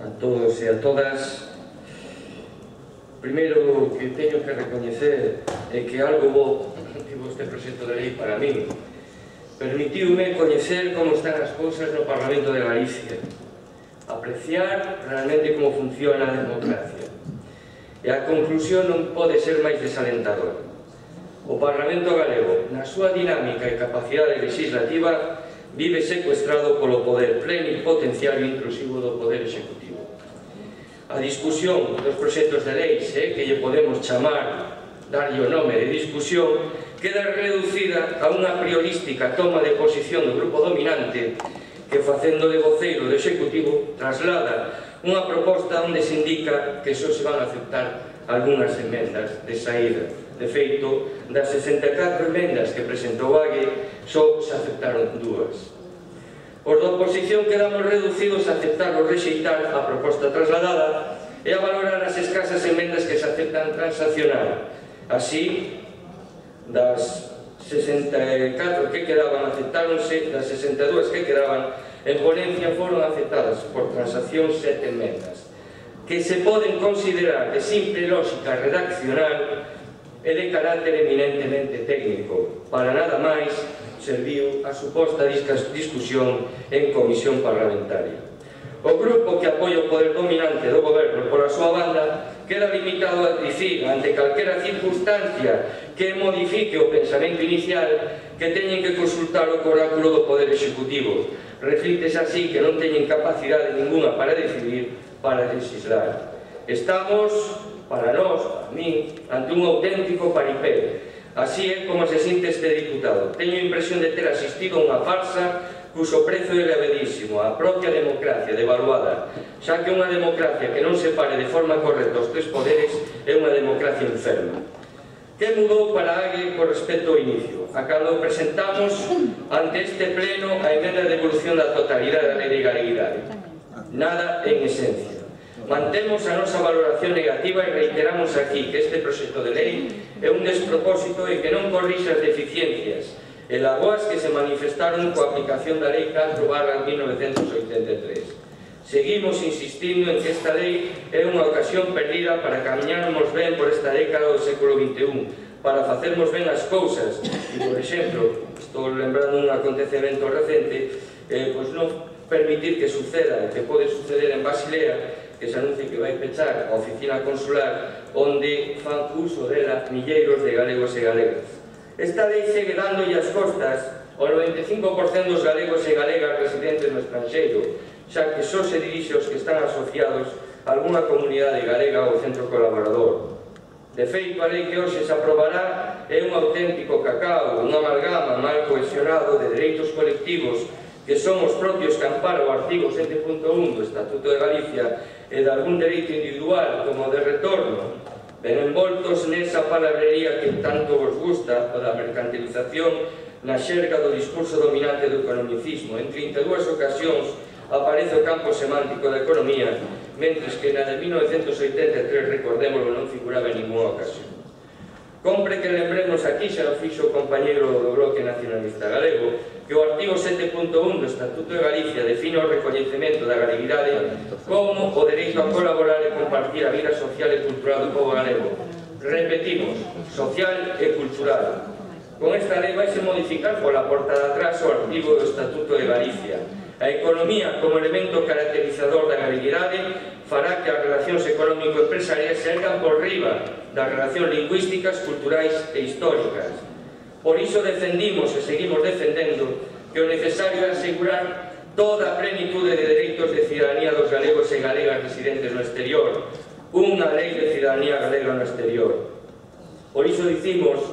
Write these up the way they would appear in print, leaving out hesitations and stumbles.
a todos e a todas. Primeiro que teño que recoñecer é que algo bo tivo este proxecto de lei para min. Permitiume coñecer como están as cousas no Parlamento de Galicia, apreciar realmente como funciona a democracia. E a conclusión non pode ser máis desalentadora. O Parlamento galego, na súa dinámica e capacidade legislativa, vive secuestrado polo poder plenipotenciario inclusivo do poder executivo. A discusión dos proxectos de leis, que lle podemos chamar, darlle o nome de discusión, queda reducida a unha priorística toma de posición do grupo dominante que, facendo de voceiro do executivo, traslada unha proposta onde se indica que só se van a aceptar algunhas emendas de saída. De feito, das 64 emendas que presentou Ague, só se aceptaron 2. Os da oposición quedamos reducidos a aceptar ou rexeitar a proposta trasladada e a valorar as escasas emendas que se aceptan transaccionar. Así, das 64 que quedaban aceptáronse, das 62 que quedaban en ponencia foron aceptadas por transacción 7 emendas, que se poden considerar de simple lógica redaccional e de carácter eminentemente técnico. Para nada máis serviu a suposta discusión en comisión parlamentaria. O grupo que apoia o poder dominante do goberno, por a súa banda, queda limitado a dicir, ante calquera circunstancia que modifique o pensamento inicial, que teñen que consultar o oráculo do poder executivo. Reflítese así que non teñen capacidade ninguna para decidir, para legislar. Estamos, para nós, para mí, ante un auténtico paripé. Así é como se sinte este diputado. Teño a impresión de ter asistido a unha farsa cuso prezo é elevadísimo, a propia democracia devaluada, xa que unha democracia que non separe de forma correcta os tres poderes é unha democracia enferma. Que mudou para Ague con respecto ao inicio? A cando presentamos ante este pleno a emenda de devolución da totalidade da lei de galeguidade. Nada en esencia. Mantemos a nosa valoración negativa e reiteramos aquí que este proxecto de lei é un despropósito e que non corrixe as deficiencias e lagoas que se manifestaron coa aplicación da Lei 4/1983. Seguimos insistindo en que esta lei é unha ocasión perdida para camiñarmos ben por esta década do século XXI, para facermos ben as cousas e, por exemplo, estou lembrando un acontecemento recente, pois non permitir que suceda, que pode suceder en Basilea, que se anuncie que vai pechar a oficina consular onde fan uso dela milleiros de galegos e galegas. Esta lei segue dándolle as costas ao 95% dos galegos e galegas residentes no estranxeiro, xa que só se dirixe aos que están asociados a algunha comunidade galega ou centro colaborador. De feito, a lei que hoxe se aprobará é un auténtico cacao, un amalgama mal cohesionado de dereitos colectivos que son os propios que amparan o artigo 7.1 do Estatuto de Galicia e de algún dereito individual como o de retorno, ben envoltos nesa palabrería que tanto vos gusta, o da mercantilización na xerga do discurso dominante do economicismo. En 32 ocasións aparece o campo semántico da economía, mentres que na de 1983, recordémoslo, non figuraba en ninguna ocasión. Compre que lembremos aquí, xa o fixo o compañeiro do Bloque Nacionalista Galego, que o artigo 7.1 do Estatuto de Galicia define o recoñecemento da galeguidade como o dereito a colaborar e compartir a vida social e cultural do povo galego. Repetimos, social e cultural. Con esta lei vai se modificar pola porta de atrás o artigo do Estatuto de Galicia. A economía como elemento caracterizador da galeguidade fará que as relacións económico-empresariais se ergan por riba das relacións lingüísticas, culturais e históricas. Por iso defendimos e seguimos defendendo que o necesario é asegurar toda a plenitude de dereitos de cidadanía dos galegos e galegas residentes no exterior, unha lei de cidadanía galega no exterior. Por iso dicimos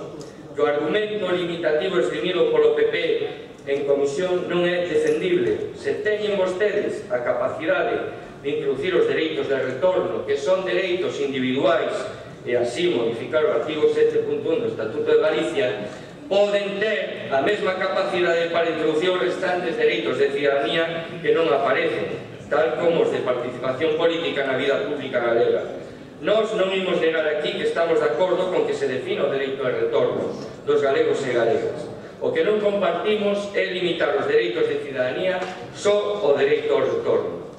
que o argumento limitativo esgrimido polo PP en comisión non é defendible. Se teñen vostedes a capacidade de introducir os dereitos de retorno, que son dereitos individuais, e así modificar o artigo 7.1 do Estatuto de Galicia, poden ter a mesma capacidade para introducir os restantes dereitos de cidadanía que non aparecen, tal como os de participación política na vida pública galega. Nós non imos negar aquí que estamos de acordo con que se defina o dereito de retorno dos galegos e galegas. O que non compartimos é limitar os dereitos de cidadanía só ao dereito ao retorno.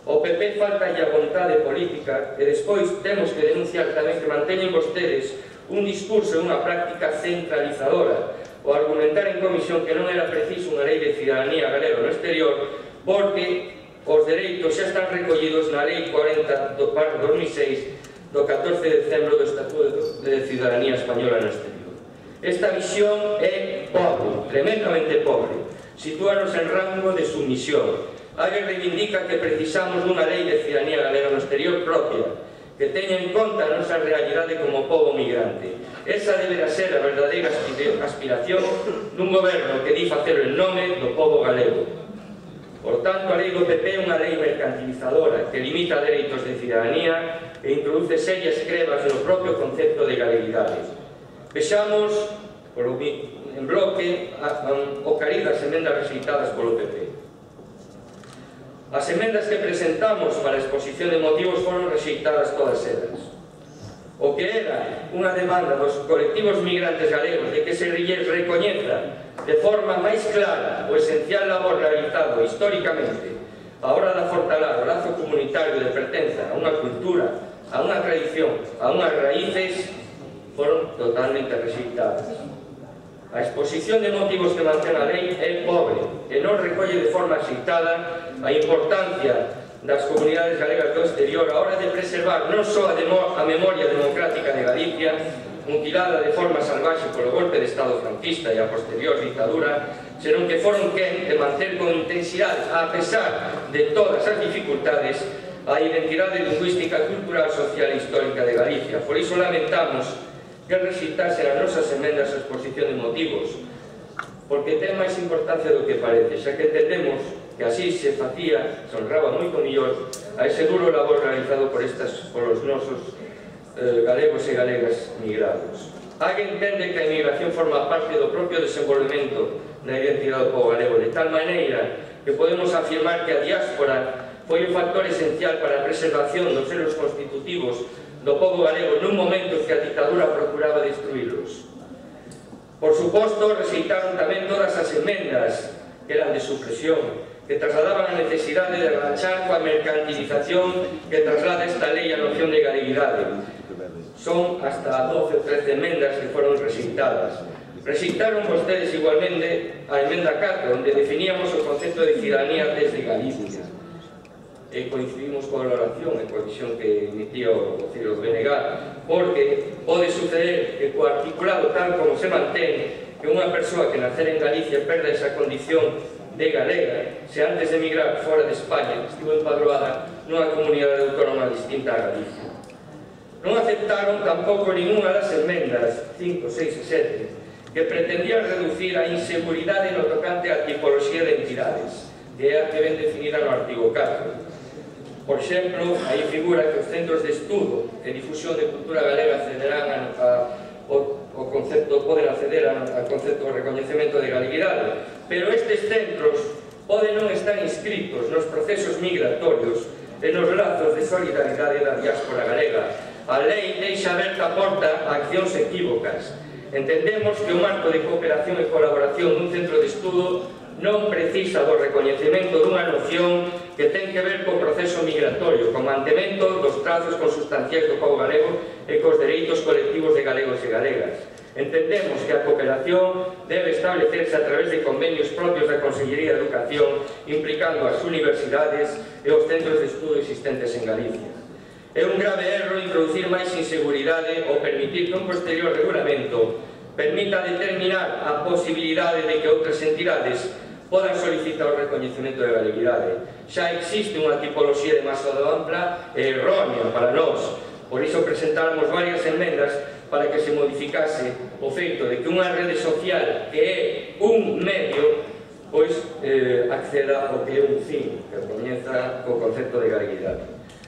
O PP falta a vontade política e despois temos que denunciar tamén que manteñen vostedes un discurso e unha práctica centralizadora o argumentar en comisión que non era preciso unha lei de cidadanía galega no exterior porque os dereitos xa están recollidos na Lei 40/2006 do 14 de decembro do Estatuto de Cidadanía Española no exterior. Esta visión é pobre, tremendamente pobre. Sitúanos en rango de submisión. Alguén reivindica que precisamos dunha lei de cidadanía galega no exterior propia, que teña en conta a nosa realidade como pobo migrante. Esa deberá ser a verdadeira aspiración dun goberno que di facelo en nome do pobo galego. Por tanto, a lei do PP é unha lei mercantilizadora que limita dereitos de cidadanía e introduce serias crebas no propio concepto de galeguidade. Vexamos en bloque o cariz das emendas rexeitadas polo PP. As emendas que presentamos para a exposición de motivos foron rexeitadas todas elas. O que era unha demanda dos colectivos migrantes galegos de que se lles recoñeza de forma máis clara o esencial labor realizado históricamente a hora de afortalar o lazo comunitario de pertenza a unha cultura, a unha tradición, a unhas raíces, foron totalmente rexeitadas. A exposición de motivos que mantén a lei é pobre e non recolle de forma axeitada a importancia das comunidades galegas do exterior a hora de preservar non só a memoria democrática de Galicia, mutilada de forma salvaxe polo golpe de Estado franquista e a posterior dictadura, senón que foron quen de manter con intensidade, a pesar de todas as dificultades, a identidade lingüística, cultural, social e histórica de Galicia. Por iso lamentamos que rexeitasen as nosas emendas a exposición de motivos, porque ten máis importancia do que parece, xa que entendemos que así se facía, se honraba moito millor a ese duro labor realizado por os nosos galegos e galegas migrados. Alguén entende que a inmigración forma parte do propio desenvolvemento da identidade do pobo galego, de tal maneira que podemos afirmar que a diáspora foi un factor esencial para a preservación dos selos constitutivos do pobo galego nun momento que a dictadura procuraba destruílos. Por suposto, rexeitaron tamén todas as emendas que eran de supresión, que trasladaban a necesidade de rachar coa mercantilización que traslada esta lei a noción de galeguidade. Son hasta 12 ou 13 emendas que foron rexeitadas. Rexeitaron vostedes igualmente a emenda 4, onde definíamos o concepto de cidadanía desde Galicia. E coincidimos coa valoración e coa visión que emitía o Ciro BNG, porque pode suceder que co articulado tal como se mantén que unha persoa que nacer en Galicia perda esa condición de galega se antes de emigrar fora de España estivo empadroada nunha comunidade autónoma distinta a Galicia. Non aceptaron tampouco ninguna das emendas 5, 6 e 7 que pretendían reducir a inseguridade no tocante á tipoloxía de entidades, que é a que ven definida no artigo 4. Por exemplo, aí figura que os centros de estudo e difusión de cultura galega accederán ao concepto, poden acceder ao concepto de recoñecemento de galeguidade, pero estes centros poden non estar inscritos nos procesos migratorios e nos lazos de solidaridade da diáspora galega. A lei deixa aberta a porta a accións equívocas. Entendemos que o marco de cooperación e colaboración dun centro de estudo non precisa do recoñecemento dunha noción que ten que ver co proceso migratorio, co mantemento dos trazos consustanciais do pobo galego e cos dereitos colectivos de galegos e galegas. Entendemos que a cooperación debe establecerse a través de convenios propios da Consellería de Educación, implicando as universidades e os centros de estudo existentes en Galicia. É un grave erro introducir máis inseguridade ou permitir que un posterior regulamento permita determinar a posibilidade de que outras entidades podan solicitar o recoñecemento de galeguidade. Xa existe unha tipoloxía demasiado ampla e errónea para nós. Por iso presentáramos varias enmendas para que se modificase o feito de que unha rede social que é un medio pois acceda ao que é un fin, que comienza co concepto de galeguidade.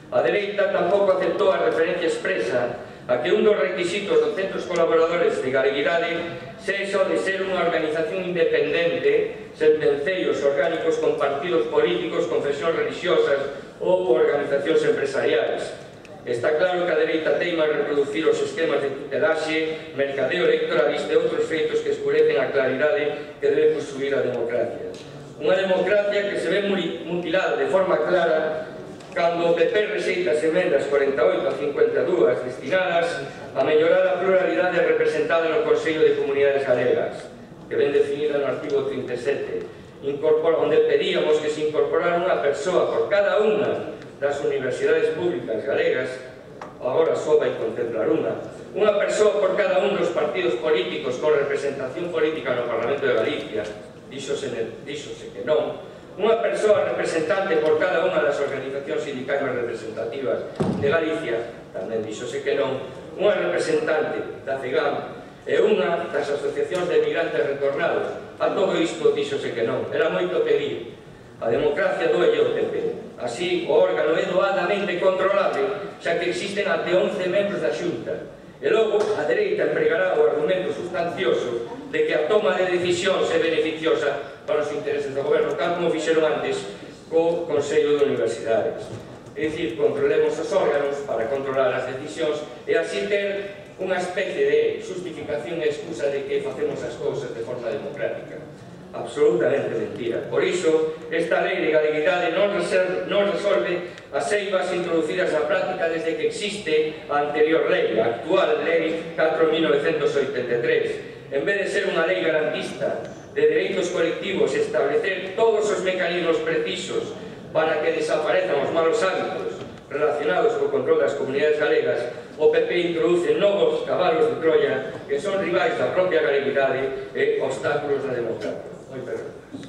A dereita tampouco aceptou a referencia expresa a que un dos requisitos dos centros colaboradores de galeguidade sexa o de ser unha organización independente, sen venceios orgánicos con partidos políticos, confesións religiosas ou organizacións empresariais. Está claro que a dereita teima a reproducir os esquemas de tutelaxe, mercadeo electoralista e outros feitos que escurecen a claridade que debe construir a democracia. Unha democracia que se ve mutilada de forma clara cando o PP rexeita as emendas 48 a 52 destinadas a mellorar a pluralidade representada no Consello de Comunidades Galegas, que ven definida no artigo 37, onde pedíamos que se incorporara unha persoa por cada unha das universidades públicas galegas. Agora só vai contemplar unha persoa por cada un dos partidos políticos con representación política no Parlamento de Galicia, díxose que non, unha persoa representante por cada unha das organizacións sindicais representativas de Galicia, tamén díxose que non, unha representante da CEGAM e unha das asociacións de migrantes retornados. A todo isto díxose que non, era moito pedir. A democracia doelle ao PP. Así, o órgano é doadamente controlable, xa que existen até 11 membros da Xunta. E logo, a dereita empregará o argumento sustancioso de que a toma de decisións é beneficiosa para os intereses do goberno, tal como fixeron antes co Consello de Universidades. É dicir, controlemos os órganos para controlar as decisións e así ter unha especie de justificación e excusa de que facemos as cousas de forma democrática. Absolutamente mentira. Por iso, esta lei de galeguidade non resolve as eivas introducidas na práctica desde que existe a anterior lei, a actual Lei 4.983. En vez de ser unha lei garantista de dereitos colectivos e establecer todos os mecanismos precisos para que desaparezcan os malos hábitos relacionados co control das comunidades galegas, o PP introduce novos cabalos de Troia que son rivais da propia galeguidade e obstáculos da democracia. Moitas grazas.